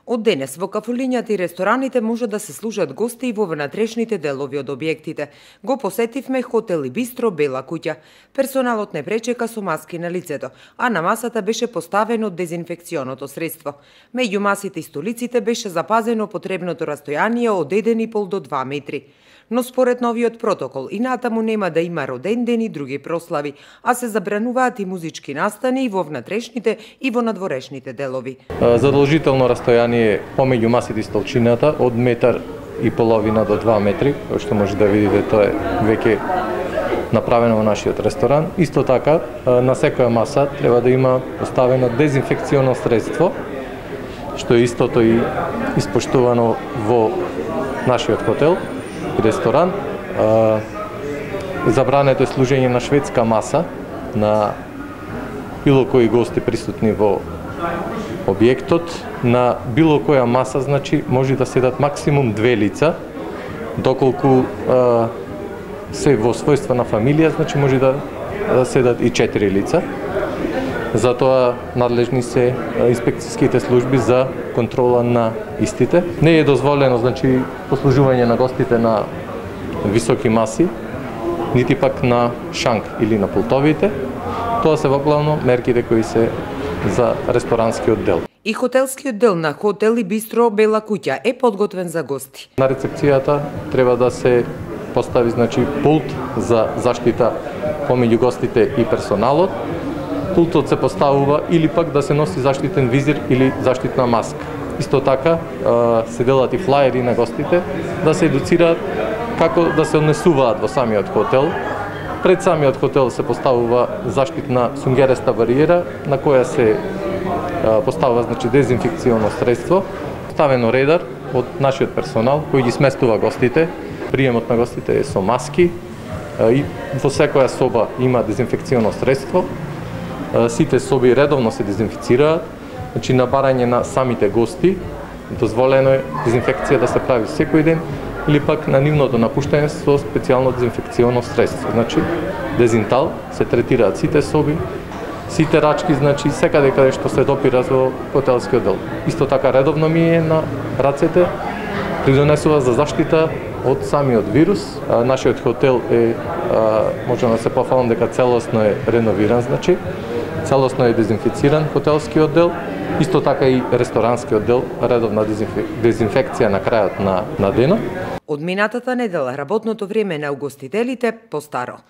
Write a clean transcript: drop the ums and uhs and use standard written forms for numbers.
Од денес во кафулињата и рестораните може да се служат гости и во внатрешните делови од објектите. Го посетивме хотел и бистро Бела куќа. Персоналот не пречека со маски на лицето, а на масата беше поставено дезинфекционото средство. Меѓу масите и столиците беше запазено потребното растојание од 1,5 до 2 метри. Но според новиот протокол и натаму нема да има роден ден и други прослави, а се забрануваат и музички настани и во внатрешните и во надворешните делови. Задолжително растојание помеѓу масите и столчината од 1,5 метри до 2 метри, кој што може да видите, тоа е веќе направено во нашиот ресторан. Исто така, на секоја маса треба да има поставено дезинфекционо средство, што е истото и испоштувано во нашиот хотел и ресторан. Забрането е служење на шведска маса на било кои гости присутни во објектот. На било која маса, значи, може да седат максимум 2 лица, доколку се во својство на фамилија, значи може да седат и 4 лица. Затоа надлежни се инспекцијските служби за контрола на истите. Не е дозволено, значи, послужување на гостите на високи маси, нити пак на шанк или на пултовите. Тоа се воглавно мерките кои се за ресторанскиот дел. И хотелскиот дел на хотел и бистро Бела куќа е подготвен за гости. На рецепцијата треба да се постави, значи, пулт за заштита помеѓу гостите и персоналот. Пултот се поставува или пак да се носи заштитен визир или заштитна маска. Исто така се делат и флаери на гостите да се едуцираат како да се однесуваат во самиот хотел. Пред самиот хотел се поставува заштитна сунгереста бариера на која се поставува, значи, дезинфекционо средство, ставено редар од нашиот персонал кој ги сместува гостите. Приемот на гостите е со маски и во секоја соба има дезинфекционо средство. Сите соби редовно се дезинфицираат, значи на барање на самите гости дозволено е дезинфекција да се прави секој ден или пак на нивното напуштање со специјално дезинфекционо средство. Значи дезинтал се третираат сите соби, сите рачки, значи секаде каде што се допира во хотелскиот дел. Исто така редовно мије на рацете, придонесува за заштита од самиот вирус. Нашиот хотел е, можеме да се пофалам дека целосно е реновиран, значи целосно е дезинфициран хотелскиот дел, исто така и ресторанскиот дел, редовна дезинфекција на крајот на денот. Од минатата недела работното време на угостителите постаро.